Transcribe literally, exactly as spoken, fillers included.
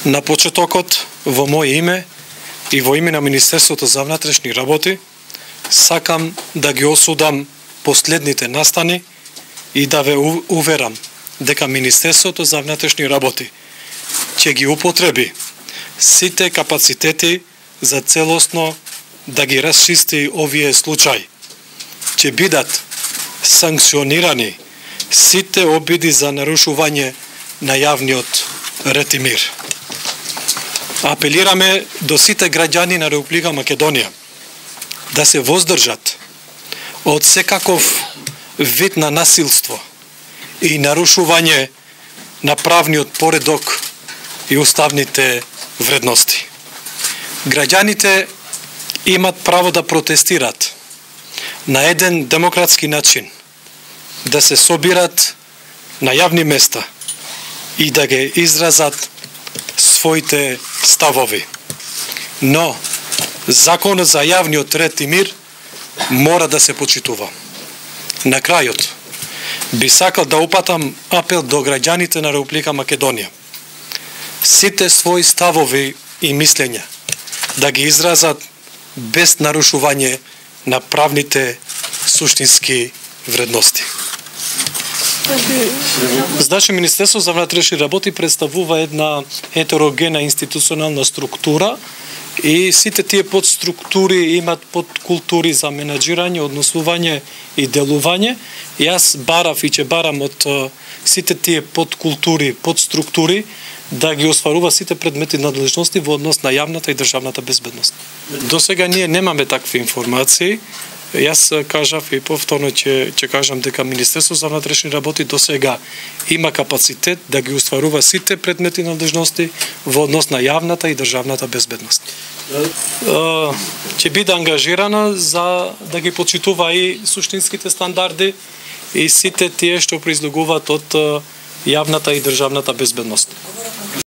На почетокот, во моје име и во име на Министерството за внатрешни работи, сакам да ги осудам последните настани и да ве уверам дека Министерството за внатрешни работи ќе ги употреби сите капацитети за целосно да ги расчисти овие случаи. Ќе бидат санкционирани сите обиди за нарушување на јавниот ред и мир. Апелираме до сите граѓани на Република Македонија да се воздржат од секаков вид на насилство и нарушување на правниот поредок и уставните вредности. Граѓаните имат право да протестират на еден демократски начин, да се собират на јавни места и да ги изразат своите ставови. Но законот за јавниот ред и мир мора да се почитува. На крајот, би сакал да упатам апел до граѓаните на Република Македонија. Сите своји ставови и мислења да ги изразат без нарушување на правните суштински вредности. Значи, Министерство за внатрешни работи представува една хетерогена институционална структура и сите тие подструктури имат подкултури за менаџирање, однесување и делување. И јас барав и ќе барам од сите тие подкултури, подструктури да ги остварува сите предмети надлежности во однос на јавната и државната безбедност. До сега ние немаме такви информации. Јас кажав и повторно ќе ќе кажам дека Министерство за внатрешни работи до сега има капацитет да ги остварува сите предмети надлежности во однос на јавната и државната безбедност. Ќе биде ангажирана за да ги почитува и суштинските стандарди и сите тие што произлегуваат од јавната и државната безбедност.